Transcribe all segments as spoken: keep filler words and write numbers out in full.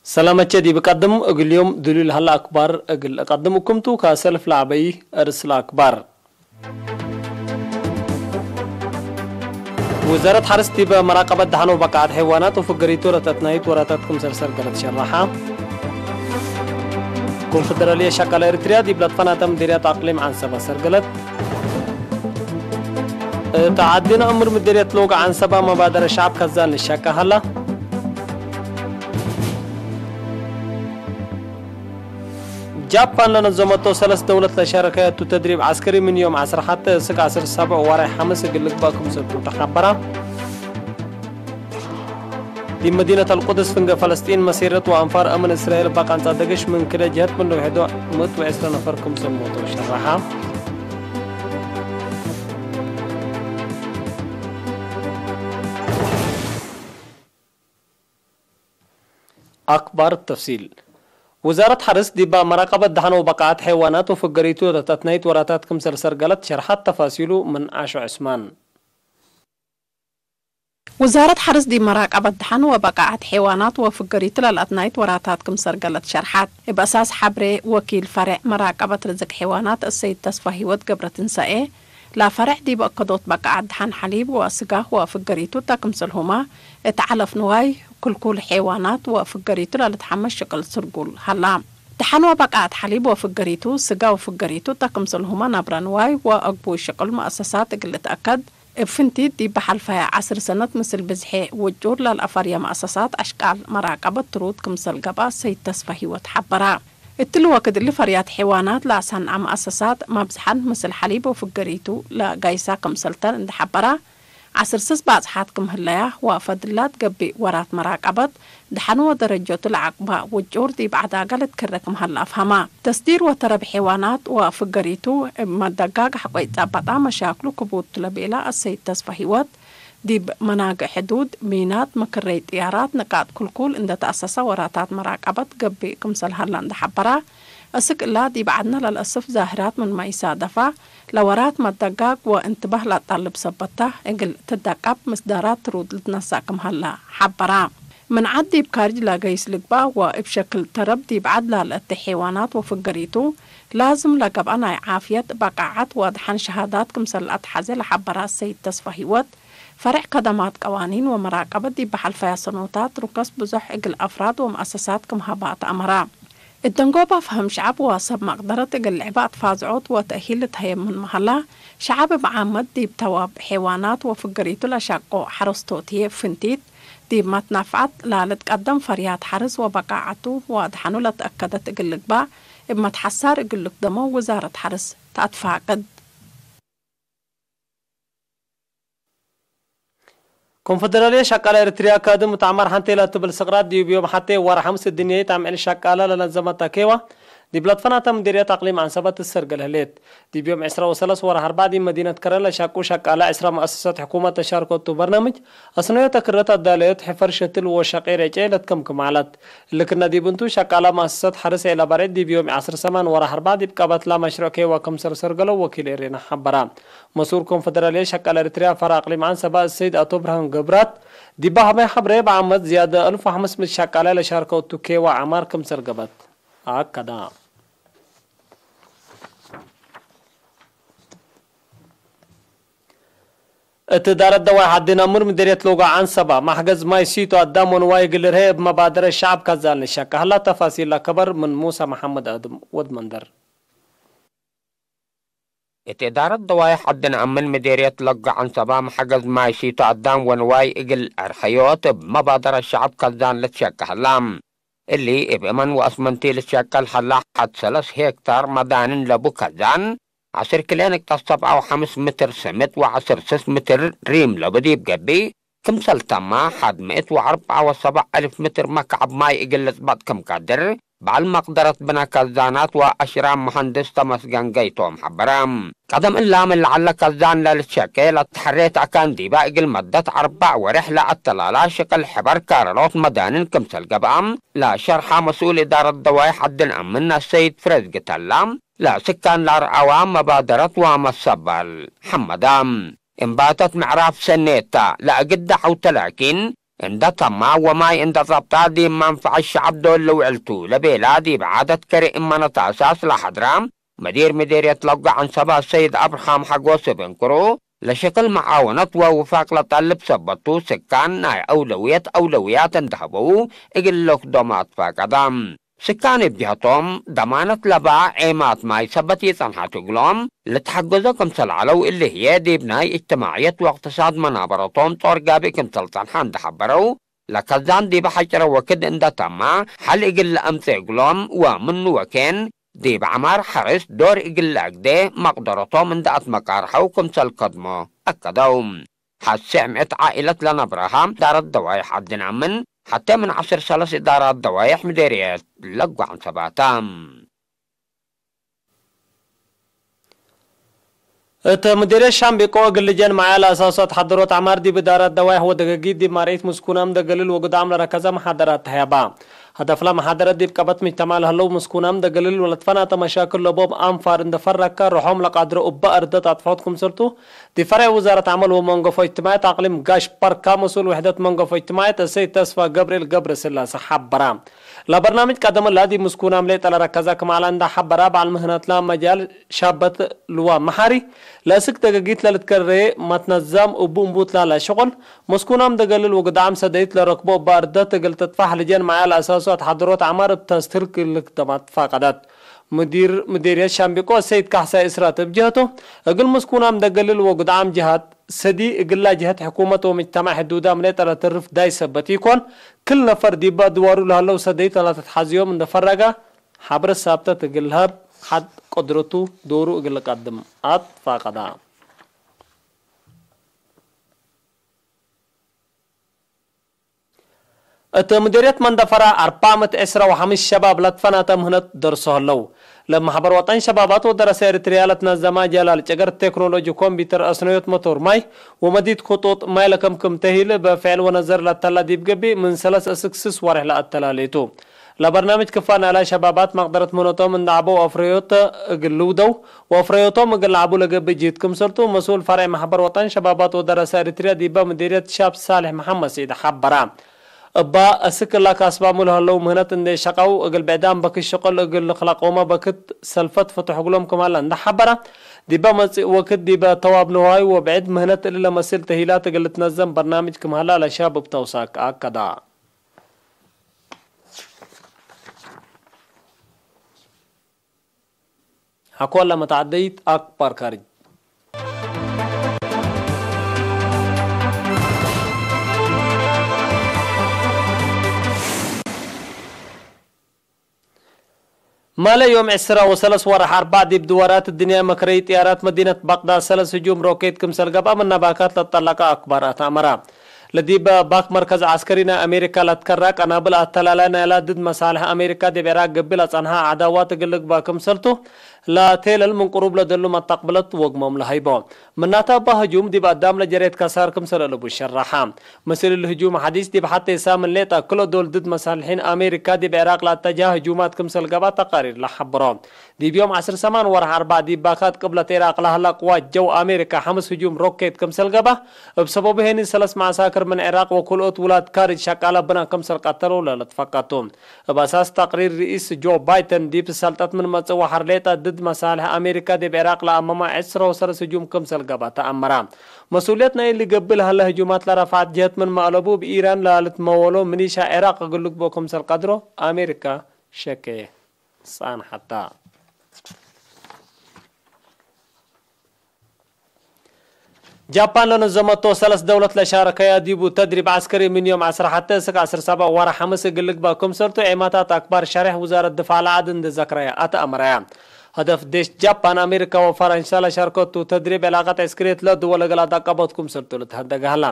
ሰላመቼ ዲብ ቀድም እግል ዮም ዱሉል ሀለ አክባር እግል እቀድም እኩምቱ፣ ከሰልፍ ለዐበይ እርስ ለአክባር። ውዛረት ሐርስ ዲብ መራቀበት ደሐን ወበቃዐት ሐይዋናት ወፍገሪቱ ለተአትናይት ወራታት ክምሰል ሰርገለት ሸረሐ። ኮንፈደራልየ ሸቃለ ኤሪትርያ ዲብ ለትፈናተ ምዴርያት አቅሊም ዐንሰበ ሰርገለት። እት ዐዲነ እምር ምዴርየት ሎግ ዐንሰበ መባደረ ሸዐብ ከዛን ልሸቀ ሀላ። ጃፓን ለነዘመቶ ሰለስ ደውለት ለሸረከቱ ተድሪብ ዐስከሪ ምን ዮም ዐስር ሐቴ እስክ ዐስር ሰብዕ ወራይ ሐምስ እግል ልግበእ ክምሰልቱ ተሐበረ። ዲብ መዲነት አልቁድስ ፍንጌ ፈለስጢን መሲረት ወአንፋር አምን እስራኤል እበ ቃንጻ ደገሽ ምን ክለ ጀህት ምን ለውሕዶ ምእት ወዕስረ ነፈር ክምሰል ሞተው ሸረሐ። አክባር ተፍሲል። ውዛረት ሐርስ ዲባ መራቀበት ደሐን ወበቃዐት ሐይዋናት ወፍገሪቱ ለተአትናይት ወራታት ክምሰል ሰርገለት ሸርሐት። ተፋሲሉ ምን አሾ ዕስማን። ውዛረት ሐርስ ዲብ መራቀበት ደሐን ወበቃዐት ሐይዋናት ወፍገሪቱ ለለአትናይት ወራታት ክምሰል ሰርገለት ሸርሐት። እብ አሳስ ሐብሬ ወኪል ፈሬዕ መራቀበት ርዝቅ ሐይዋናት እሰይድ ተስፋ ህይወት ገብረትንሳኤ፣ ለፈሬዕ ዲብ አከዶት በቃዐት ደሐን ሐሊብ ወስጋህ ወፍገሪቱ እተ ክምሰልሁመ፣ እት ዐለፍ ንዋይ፣ ክልኩል ሐይዋናት ወፍገሪቱ ለልትሐመስ ሽቅል ስርጉል ሀላ። ደሐን ወበቃዐት ሐሊብ ወፍገሪቱ፣ ስጋ ወፍገሪቱ እተ ክምሰልሁመ ነብረ ንዋይ ወአግቡይ ሽቅል መአሰሳት እግል ልትአከድ፣ እብ ፍንቲት ዲብ በሐልፈየ ዐስር ሰነት ምስል ብዝሔ ውጩር ለልአፈርየ መአሰሳት አሽቃል መራቀበት ትሩድ ክምሰል ገብአ ሰይድ ተስፋ ህይወት ሐበረ። እትሊ ወክድ እሊ ፈርያት ሐይዋናት ለአሰንዐ መአሰሳት መብዝሐን ምስል ሐሊብ ወፍገሪቱ ለጋይሳ ክምሰልተን እንዴ ሐበረ፣ ዐስር ስስ ባጽሓት ክም ህለያ ወፈድላት ገብእ ወራት መራቀበት ደሐን ወደረጀቱ ለዐቅባ ውጩር ዲብ ዐዳገ ልትከረ ክም ሀለ አፍሀማ። ተስዲር ወተረብ ሐይዋናት ወፍገሪቱ እብ መደጋግ ሐቆ ኢጸበጣ መሻክሉ ክቡድ ቱ ለቤላ አሰይድ ተስፋ ህይወት፣ ዲብ መናግዕ ሕዱድ፣ ሚናት፣ መክረይ ጥያራት፣ ንቃጥ ክልኩል እንዴ ተአሰሰ ወራታት መራቀበት ገብእ ክምሰል ሀለ እንዴ ሐበረ፣ እስክ እላ ዲብ ዐድነ ለልአስፍ ዛህራት ምንመ ኢሳደፋ፣ ለወራት መደጋግ ወእንትባህ ለአጣልብ ሰበት ተ፣ እግል ትደቀብ ምስዳራት ትሩድ ልትነሰእ ክም ሀለ ሐበረ። ምን ዐድ ዲብ ካርጅ ለገይስ ልግበእ ወእብ ሸክል ተረብ ዲብ ዐድ ላለአቴ ሐይዋናት ወፍገሪቱ ላዝም ለገብአ ናይ ዓፍየት፣ በቃዐት ወአድሐን ሸሃዳት ክምሰል ለአትሐዜ ለሐበረ ሰይድ ተስፋ ህይወት፣ ፈሬዕ ከደማት ቀዋኒን ወመራቀበት ዲብ በሐልፈያ ሰኖታት ሩከስ ብዞሕ እግል አፍራድ ወመአሰሳት ክም ሀበ አትአመረ። እት ደንጎባ ፈሀም ሸዐብ ወሰብ መቅደረት እግል ልዕበ አትፋዝዖት ወተእሂል ልትሀየብ ምንመ ሀላ፣ ሸዐብ እብ ዓመት ዲብ ተዋብ ሐይዋናት ወፍገሪቱ ለሸቆ ሐረስቶት ህዬ ፍንቲት፣ ዲብ መትናፍዐት ላልትቀደም ፈርያት ሐርስ ወበቃዐቱ ወአድሐኑ ለተአከደት እግል ልግባእ፣ እብ መትሐሳር እግል ልክደሞ ውዛረት ሐርስ ተአትፋቅድ። ኮንፈደራልየ ሸቃለ ኤሪትርያ ካድም ተዕማር ሐንቴ ለትብል ስቅራት ዲብ ዮም ሐቴ ወር ሐምስ እድንያይት አምዕል ሸቃለ ለነዘመት አኬዋ፣ ዲብ ለትፈናተ ምዴርየት አቅሊም ዐንሰበት ትሰርገል ህሌት። ዲብ ዮም ዕስራ ወሰለስ ወር አርበዕ ዲብ መዲነት ከረን ለሸቁ ሸቃለ ዕስራ መአሰሰት ሕኩመት ተሻርከቱ በርናምጅ አስነዮተ ክረት አዳለዮት ሕፈር ሸትል ወሸቄ ሬጨ ለትከምክም ዐለት። እሊ ክነ ዲብ እንቱ፣ ሸቃላ መአሰሰት ሐርስ ዔላ በርዒድ ዲብ ዮም ዐስር ሰማን ወርሕ አርበዕ ዲብ ቀበትላ መሽሩዕ ኬዋ ክምሰል ሰርገለው ወኪል ኤሬና ሐበራ። መስኡል ኮንፈደራልየት ሸቃላ ኤሪትርያ ፈራ አቅሊም ዐንሰበ እሰይድ አቶ ብርሃን ገብራት፣ ዲበ ሀበይ ሐብሬ፣ በዓመት ዝያደ አልፍ ወሐምስ ምእት ሸቃላይ ለሻርከው እቱ ኬዋ ዐማር ክምሰል ገብአት አከዳ። እት እዳረት ደዋይ ሐዲን አሙር ምዴርየት ሎጋ ዐንሰባ፣ መሕገዝ ማይ ሲቶ አዳም ወንዋይ እግል ልርሄ እብ መባደረት ሸዐብ ከዛን ልሸቀ ሀላ። ተፋሲል ለከበር ምን ሙሳ መሐመድ አድም ወድ መንደር። እት እዳረት ደዋይ ሐዲን አምን ምዴርየት ሎጋ ዐንሰባ፣ መሕገዝ ማይ ሲቶ አዳም ወንዋይ እግል አርሐዮት እብ መባደረት ሸዐብ ከዛን ልትሸቀ ሀላ። እሊ እብ እመን ወአስመንቲ ልትሸቀል ሀላ ሐድ ሰለስ ሄክታር መዳንን ለቡ ከዛን፣ ዐስር ክሌ ንቅጠት ሰብዓ ወሐምስ ምትር ስምጥ ወዐስር ስስ ምትር ሪም ለቡ ዲብ ገብእ፣ ክምሰል ተማ ሐድ ምእት ወአርበዓ ወሰብዕ አልፍ ምትር መክዐብ ማይ እግል ልጽበጥ ክም ቀድር፣ በዐል መቅደረት ብነ ከዛናት ወአሽራም መሀንድስ ተመስገን ገይቶም ሐበረ። ቀደም እላ ምን ለዐለ ከዛን ለልትሸቄ ለተሐሬት አካን ዲበ እግል መደት አርበዕ ወሬሕ ለአተላላ ሽቅል ሕበር ካረሎት መዳንን ክምሰል ገብአ፣ ለሸርሐ መስኡል እዳረት ደዋይ ሐዲን አምን አሰይድ ፍሬዝ ግተላ፣ ለስካን ለአርዐዋ መባደረት ወመሰበል ሐመዳ። እምባተት ምዕራፍ ሰኔታ ለአግደ ሐውተ ላኪን፣ እንደ ተማ ወማይ እንደ ጸብጣ ዲብ መንፈዐት ሸዐብ ዶል ልውዕል ቱ ለቤላ ዲብ ዓደት ከሬ እመነት አሳስ ለሐድራ፣ መዲር ምዴርየት ለጎ ዐንሰባ ሰይድ አብርሃም ሐጎስ እብ እንክሩ፣ ለሸክል መዓወነት ወውፋቅ ለጠልብ ሰበት ቱ፣ ስካን ናይ አውለውየት አውለውያት እንደ ሀበው እግል ልክዶም አትፋቀዳ። ስካን እብ ጀህቶም፣ ደማነት ለበ ዔማት ማይ ሰበት ኢጸንሐት እግሎም ልትሐገዞ ክምሰል ዐለው፣ እሊ ህዬ ዲብ ናይ እጅትማዕየት ወእቅትሳድ መናበረቶም ጦር ጋብእ ክምሰል ጸንሐ እንደ ሐበረው፣ ለከዛን ዲበ ሐጭረ ወክድ እንደ ተማ፣ ሐል እግል ለአምጽእ እግሎም ወምኑ ወኬን ዲብ ዐማር ሐርስ ዶር እግል ለአግዴ መቅደረቶም እንደ አትመቃርሐው ክምሰል ከድሞ አከደው። ሐሴዕ ምእት ዓኢለት ለነብረሃ እዳረት ደዋይሕ ዐድነ ምን ሐቴ ምን ዐስር ሰለስ እዳራት ደዋይሕ ምዴርየት ለጓዕን ሰባተ። እት ምዴርየት ሻምቢቆ እግል ልጀን መዓያ ለአሳሱ አትሐደሮት ዐማር ዲብ እዳራት ደዋይሕ ወደገጊት ዲብ ማርኢት ምስኩናም ደገልል ወግዳም ለረከዘ መሓደራት ተህያባ። ሀደፍለ መሓደረት ዲብ ቀበት ምጅተማዕ ለህለው ምስኩናም ደገልል ወለትፈናተ መሻክል ለቦም አንፋር እንደ ፈረከ ርሖም ለቃድሮ እበ አርደት አጥፈዖት ክምሰልቱ፣ ዲብ ፈርዕ ውዛረት ዐመል ወመንገፎ እጅትማዕየት አቅሊም ጋሽ በርካ መስኡል ውሕደት መንገፎ እጅትማዕየት እሰይድ ተስፋ ገብርኤል ገብረስላሴ ሐበራ። ለበርናምጅ ቀደም እላ ዲብ ምስኩናም ሌጠ ለረከዘ ክም ዐለ እንደ ሐበራ፣ በዐል ምህነትላ መጃል ሻበት ልዋ መሓሪ፣ ለእስክ ደገጊት ለልትከሬ መትነዛም እቡ እንቡት ላለ ሽቁል፣ መስኩናም ደገልል ወግዳም ሰደይት ለረክቦ እበ አርደት እግል ትጥፋሕ ልጀን መዓያ ለአሳሱ አትሐደሮት ዐማር እብ ተስትህል ክልክ ደማት ፋቀደት። ሙዲር ሙዲርየት ሻምቢቆ ሰይድ ካሕሳይ እስራት እብ ጀህቱ፣ እግል ምስኩናም ደገልል ወግዳም ጀሃት ሰዲ፣ እግላ ጀህት ሕኩመት ወምጅተማዕ ሕዱዳም ሌጠ ለትርፍ ዳይ ሰበት ኢኮን፣ ክል ነፈር ዲበ አድዋሩ ለህለው ሰደይት ለለትትሐዝዮም እንደ ፈረገ፣ ሐብረ ሳብተት እግል ለሀብ፣ ሐድ ቅድረቱ ዶሩ እግል ልቀድም አትፋቀዳ። እት ምዲርየት መንደፈራ አርባዕ ምእት ዕስራ ወሐምስ ሸባብ ለትፈናተ ምህነት ደርሶ ህለው። ለማሕበር ወጠን ሸባባት ወደረሰ ኤሪትርያ ለትነዘመ ጀላል ጨገር ቴክኖሎጂ ኮምፒውተር፣ አስነዮት መቶር ማይ ወመዲት ክጡጥ ማይ ለከምክም ተሂል በፍዕል ወነዘር ለተላ ዲብ ገብእ ምን ሰለስ እስክ ስስ ወሬሕ ለአተላሌቱ። ለበርናምጅ ክፋ ናላ ሸባባት መቅደረት ምህነቶም እንደ ዐበው አፍረዮት እግል ልውደው ወአፍረዮቶም እግል ለዐቡ ለገብእ ጅህድ ክምሰልቱ መስኡል ፈርዕ ማሕበር ወጠን ሸባባት ወደረሰ ኤሪትርያ ዲበ ምዲርየት ሻብ ሳልሕ መሐመድ ስዒድ ሐበረ። እባ እስክ እላ ካስባሙ ለህለው ምህነት እንዴ ሸቀው እግል ብዕዳም በክት ሽቅል እግል ልክለቆመ በክት ሰልፈት ፍቱሕ እግሎም ክም ሀለ እንደ ሐበረ፣ ዲበ መጽእ ወክድ ዲበ ተዋብ ንዋይ ወብዕድ ምህነት እሊ ለመስል ተሂላት እግል ልትነዘም በርናምጅ ክም ሀላ ለሻብ እብ ተውሳክ አከዳ። ሐቆለ መተዓደይት አክባር ካርጅ። ማለ ዮም ዕስራ ወሰለስ ወርሕ አርባዕ ዲብ ድዋራት እድንያ መክረይ ጥያራት መዲነት በቅዳድ ሰለስ ህጁም ሮኬት ክምሰል ገብአ ምነ ባካት ለትጠለቀ አክባር አትአመረ። ለዲብ ባክ መርከዝ ዐስከሪ ናይ አሜሪካ ለትከራ ቀናብል አተላላይ ናይላ ድድ መሳልሕ አሜሪካ ዲብ ዕራቅ ገብእ ለጸንሐ ዐዳዋት እግል ልግበእ ክምሰልቱ ለቴለል ምን ቅሩብ ለደሉ መተቅብለት ወግሞም ለሀይቦ። ምናተ እባ ህጁም ዲብ አዳም ለጀሬት ከሳር ክምሰል አለቡ ሸረሐ። ምስል እሊ ህጁም ሐዲስ ዲብ ሐቴ ሳምን ሌጠ ክሎ ዶል ድድ መሳልሒን አሜሪካ ዲብ ዕራቅ ለአተጅሀ ህጁማት ክምሰል ገብአ ተቃሪር ለሐብሮ። ዲብ ዮም ዐስር ሰማን ወርሕ አርባዕ ዲብ ባካት ቅብለት ዒራቅ ለሀላ ቅዋት ጀው አሜሪካ ሐምስ ህጁም ሮኬት ክምሰል ገብአ፣ እብ ሰበቡ ሄኒ ሰለስ መዐሳክር ምን ዒራቅ ወክልኦት ውላድ ካርጅ ሸቃለ ብነ ክምሰል ቀተለው ለልትፈቀቱ። እብ አሳስ ተቅሪር ርኢስ ጆ ባይደን ዲብ ሰልጠት ምን መጽእ ወሐር ሌጠ ድድ መሳልሕ አሜሪካ ዲብ ዒራቅ ለአመመ ዕስራ ወሰለስ ህጁም ክምሰል ገብአ ተአመረ። መስኡልየት ናይ እሊ ገብእ ለሀለ ህጁማት ለረፍዐት ጀህት ምንመ አለቡ እብ ኢራን ለልትመወሎ ሚሊሻ ዒራቅ እግል ልግብኦ ክምሰል ቀድሮ አሜሪካ ሸኬ። ጸንሐታ። ጃፓን ለነዘመቶ ሰለስ ደውለት ለሻረከያ ዲቡ ተድሪብ ዐስከሪ ምን ዮም ዐስር ሐቴ እስክ ዐስር ሰብዕ ወርሕ ሐምስ እግል ልግበእ ክምሰልቱ ዔማታት አክባር ሸሬሕ ውዛረት ድፋዕ ለዐድ እንዴ ዘክረየ አትአመረየ። ሀደፍ ዴሽ ጃፓን፣ አሜሪካ ወፈረንሳ ለሻርከቱ ተድሪብ ዕላቀት ዐስከርየት ለድወል እግል አዳቀቦት ክምሰልቱ ልትሀደገ ሀላ።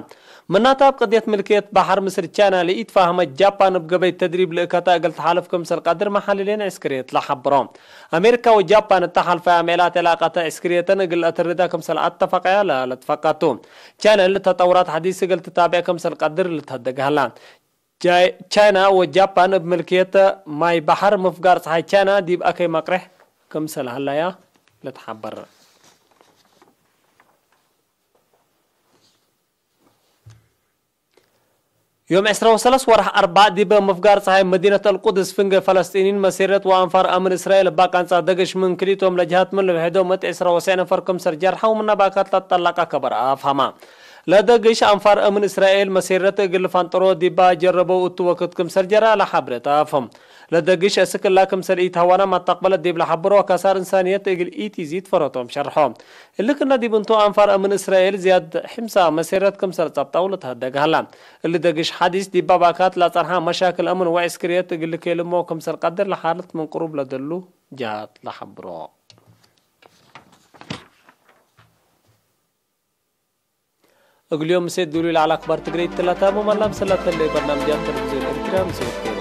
ምናተ እብ ቅድየት ምልክየት በሐር ምስል ቻይና ለኢትፋህመት ጃፓን እብ ገበይ ተድሪብ ልእከተ እግል ተሓልፍ ክምሰል ቀድር መሐልሌን ዐስከርየት ለሐብሮ። አሜሪካ ወጃፓን እተ ሐልፈያ ምዕላት ዕላቀተ ዐስከርየተን እግል ለአተርዳ ክምሰል አተፈቀያ ለልትፈቀቱ። ቻይና እሊ ተጠውራት ሐዲስ እግል ትታብዕ ክምሰል ቀድር ልትሀደግ ሀላ። ቻይ-፣ ቻይና ወጃፓን እብ ምልክየት ማይ በሐር ምፍጋር ጸሓይ ቻይና ዲብ አከይ መቅሬሕ ክምሰል ሀለያ ልትሐበር። ዮም ዕስራ ወሰለስ ወርሕ አርበዕ ዲብ ምፍጋር ጸሓይ መዲነት አልቁድስ ፍንጌ ፈለስጢኒን መሴረት ወአንፋር አምን እስራኤል እባ ቃንጻ ደግሽ ምን ክልኢቶም ለጀሃት ምን ልውሕዶም እት ዕስራ ወሰዕ ነፈር ክምሰል ጀርሐው ምነ ባካት ለትጠለቀ ከበር አፍሀማ። ለደግሽ አንፋር አምን እስራኤል መሴረት እግል ልፋንጠሮ ዲባ ጀረበው እቱ ወክድ ክምሰል ጀረ ለሐብረት አፍሀም። ለደግሽ እስክ እላ ክምሰል ኢተሀዋና መተቅበለት ዲብ ለሐብሮ ከሳር እንሳንየት እግል ኢቲዚድ ፈረቶም ሸርሖ። እሊ ክነ ዲብ እንቱ አንፋር አምን እስራኤል ዝያድ ሕምሳ መሴረት ክምሰል ጸብጠው ለተሀደግ ሀላ። እሊ ደግሽ ሐዲስ ዲብ ባካት ለጸንሐ መሻክል አምን ወዕስክርየት እግል ልኬልሞ ክምሰል ቀድር ለሓለት ምን ቅሩብ ለደሉ ጀሃት ለሐብሮ። እግልዮም ምሴት ዱሉይ ለዐለ አክባር ትግሬ ትላታሙ መላም ሰላተለ በርናምጃት ቴሌቪዝዮን ኤርትርያ ምሴት